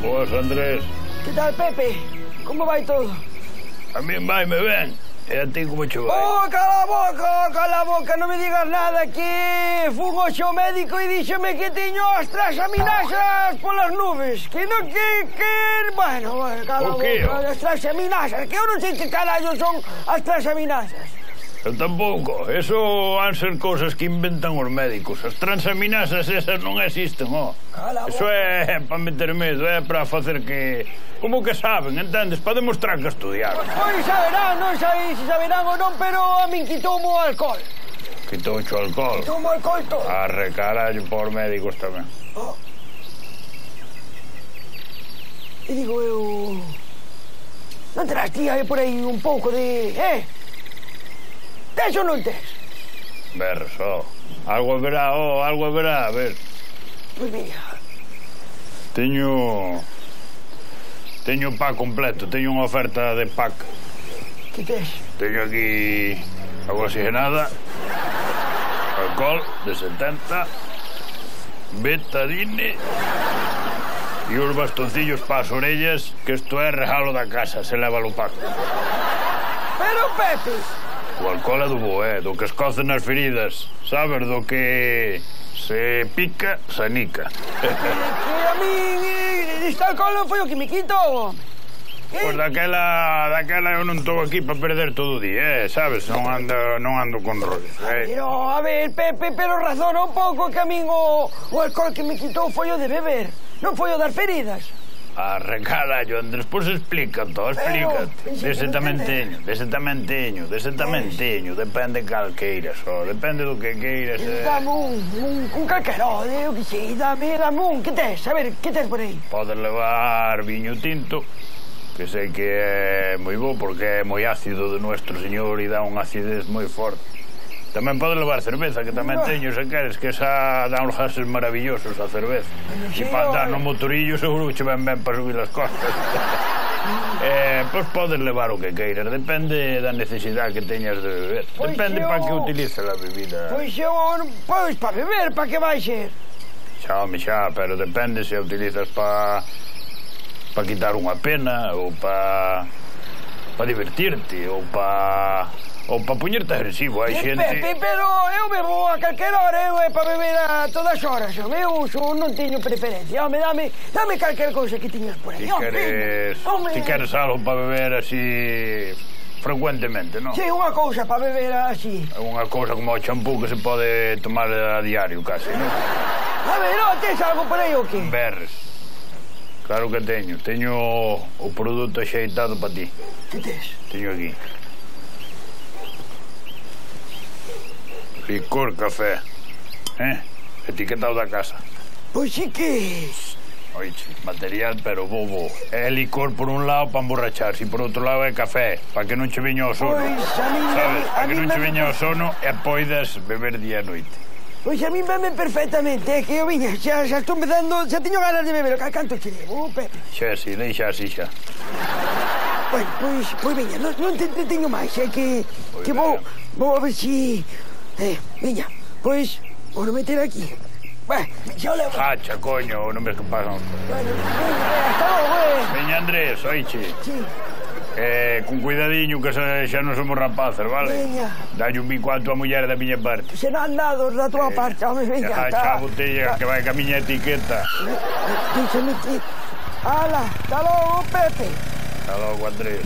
Boas, Andrés. Que tal, Pepe? Como vai todo? A mí vai-me ben. E a ti como che vai? Oh, cala a boca, non me digas nada, que fun hoxe ao médico e díxeme que tiño as transaminasas polas nubes, que non bueno, cala a boca, as transaminasas, que eu non sei que carallo son as transaminasas. Eu tampouco. Eso han ser cousas que inventan os médicos. As transaminasas esas non existen, ó. Eso é para meter medo, é para facer que... Como que saben, entendes? Para demostrar que estudiaron. Pois saberán, non sei se saberán ou non, pero a min quitoume o alcohol. Quitouche o alcohol? Quitoume o alcohol todo. Arre, carallo, por médicos tamén. Oh. E digo eu... Non terás tía por aí un pouco de... Tes ou non tes? Berres, ó. Algo haberá, a ver. Pois mira. Teño pack completo, teño unha oferta de pack. Que tes? Teño aquí agua oxigenada, alcohol de 70, betadine e os bastoncillos para as orellas, que isto é regalo da casa, se leva o pack. Pero, Pepe... O alcohol é do bo, do que escoce nas feridas, sabes, do que se pica, se anica. Que a min este alcohol non foi o que me quitou. Pois daquela eu non estou aquí para perder todo o día, sabes, non ando con rollos. Pero, a ver, Pepe, pero razona un pouco que a min o alcohol que me quitou foi o de beber, non foi o das feridas. Arre, carallo, Andrés, pois explica todo, explícate. Dese tamén teño, depende cal queiras, depende do que queiras. Dame un calqueró, eu que sei, dame un, que tes? A ver, que tes por aí? Podes levar viño tinto, que sei que é moi bo porque é moi ácido de Nuestro Señor e dá unha acidez moi forte. Tamén podes levar cerveza, que tamén teño, se queres, que esa dá uns gases maravillosos a cerveza. E para andar no motorillo seguro que che ven ben para subir as costas. Pois podes levar o que queiras, depende da necesidade que teñas de beber. Depende para que utilices a bebida. Pois para beber, para que vai ser? Xa, pero depende se a utilizas para quitar unha pena, ou para divertirte, ou para poñerte agresivo, hai xente... Pepe, pero eu bebo a calquera hora, eu é para beber a todas horas, eu non teño preferencia, home, dame calquera cousa que tiñas por aí, Ti queres algo para beber así frecuentemente, non? Si, unha cousa para beber así. Unha cousa como o champú que se pode tomar a diario, casi, non? A ver, tes algo por aí ou que? Berres. Claro que teño o produto axeitado para ti. Que tes? Teño aquí. Licor café, etiquetado da casa. Pois sí que... Oiche, material pero bobo. É licor por un lado para emborracharse e por outro lado é café, para que non che veña o sono. Pois a mí... Sabes, para que non che veña o sono e poidas beber día e noite. Pois a mí veme perfectamente, que eu viña, xa estou empezando, xa teño ganas de beber, canto che debo, Pepe? Xa, si, deixa así xa. Bueno, pois viña, non te teño máis, é que vou a ver si... Viña, pois, vou meter aquí. Xa o levo. Hacha, coño, non ves que pasan. Bueno, hasta logo, Viña, Andrés, oiche. Sí. Con cuidadiño, que xa non somos rapaces, vale? Viña. Dalle un bico a tua muller da miña parte. Serán dados da tua parte, home, viña. Xa a botella que vai ca miña etiqueta. Díxame ti. Ala, hasta logo, Pepe. Hasta logo, Andrés.